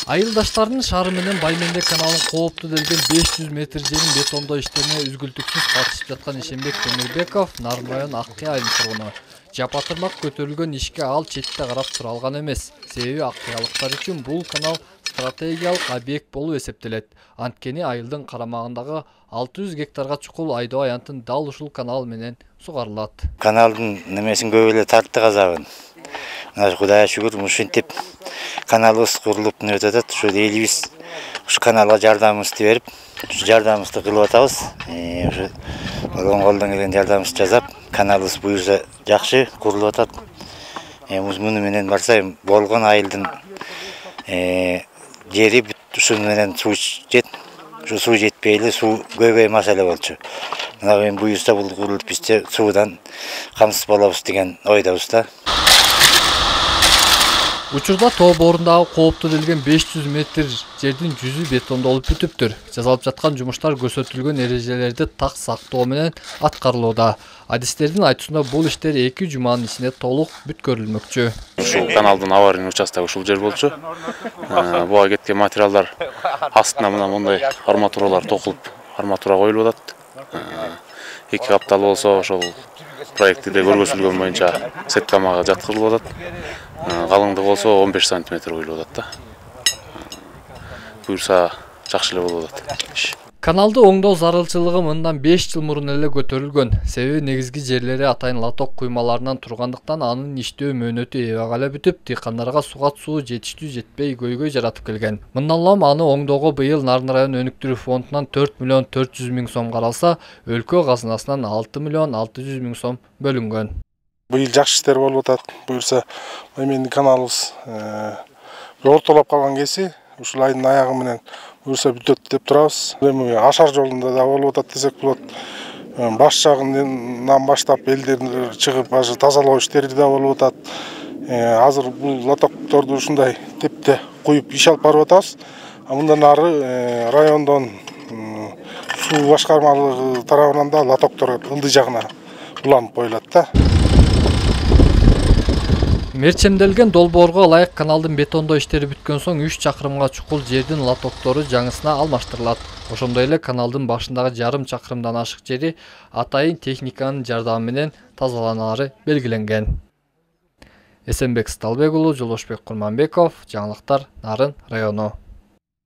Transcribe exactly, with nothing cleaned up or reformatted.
Айылдаштардын шаары менен Баймендек каналын коопту делген беш жүз метр жерин бетондоо иштерине үзгүлтүксүз катышып жаткан Ишенбек Темирбеков Нарын район Аккай айылынын тургуну. Жапатырмак көтөрүлгөн ишке ал четте карап тура алган эмес. Себеби аккаялыктар үчүн бул канал стратегиялык объект болуп эсептелет. Анткени айылдын карамагындагы алты жүз гектарга чукул Айдоо аянтын дал ушул канал менен сугарылат. Каналдын немесин көп эле тартты казабын. Кудайга шүгүр, ушинтип каналыбыз курулуп өтүп атат. Ушу элибиз ушу каналга жардамыбызды берип, ушу жардамыбызды кылып атабыз. Ушу болгон колдон келген жардамыбызды жасап, каналыбыз буюрса жакшы курулуп атат. Эми муну менен барса болгон айылдын жери ушун менен суу жет. Ушу суу жетпей эле суу көбөй маселе болчу. Мына эми буюрса бул курулуп бизде суудан камсыз болобуз деген ойдобуз да. Учурда тоо борундагы коопту делген беш жүз метр жердин жүзү бетондолуп бүтүптүр. Жасалып жаткан жумуштар көрсөтүлгөн эрежелерди так сактоо менен аткарылууда. Адистердин айтуусунда бул иштер эки жуманын ичинде толук бүткөрүлмөкчү. Ушул каналдын аварийный участогу ушул жер болчу. Буга кеткен материалдар астына мына мындай арматуралар токулуп, арматура коюлуп атат. Эки каптал болсо ошол проектиде көргөзүлгөн боюнча сеткамага жаткырылып атат. Калыңдыгы болсо он беш сантиметр коюлуп атат да. Буюрса жакшы эле болуп атат. Каналды оңдоо зарылчылыгы мындан беш жыл мурун эле көтөрүлгөн. Себеби негизги жерлери атайын лоток куймаларынан тургандыктан анын иштөө мөөнөтү эбег эле бүтүп, дыйкандарга суга суу жетиштүү жетпей көйгөй жаратып келген. Мындан улам аны оңдоого быйыл Нарын район өнүктүрүү фондунан төрт миллион төрт жүз миң сом каралса, өлкө казынасынан алты миллион алты жүз миң сом бөлүнгөн. Быйыл жакшы иштер болуп атат. Буюрса Баймендик каналыбыз ортолоп калган кеси ушул айдын аягы менен буюрса бүтөт деп турабыз. Эми ашар жолунда да болуп атат десек болот. Баш жагынан баштап элдер чыгып ажы тазалоо иштери да болуп атат. Азыр бул лотокторду ушундай тепте куюп иш алып барып атабыз. Мындан ары райондон суу башкармалыгы тарабынан да лотоктор ылдый жагына уланып коюлат да. Мерчемделген долбоорго ылайык каналдын бетондоо иштери бүткөн соң үч чакырымга чукул жердин лотоктору жаңысына алмаштырылат. Ошондой эле каналдын башындагы жарым чакырымдан ашык жери атайын техниканын жардамы менен тазаланаары белгиленген. Эсенбек Сталбек уулу, Жолошбек Курманбеков, жаңылыктар, Нарын району.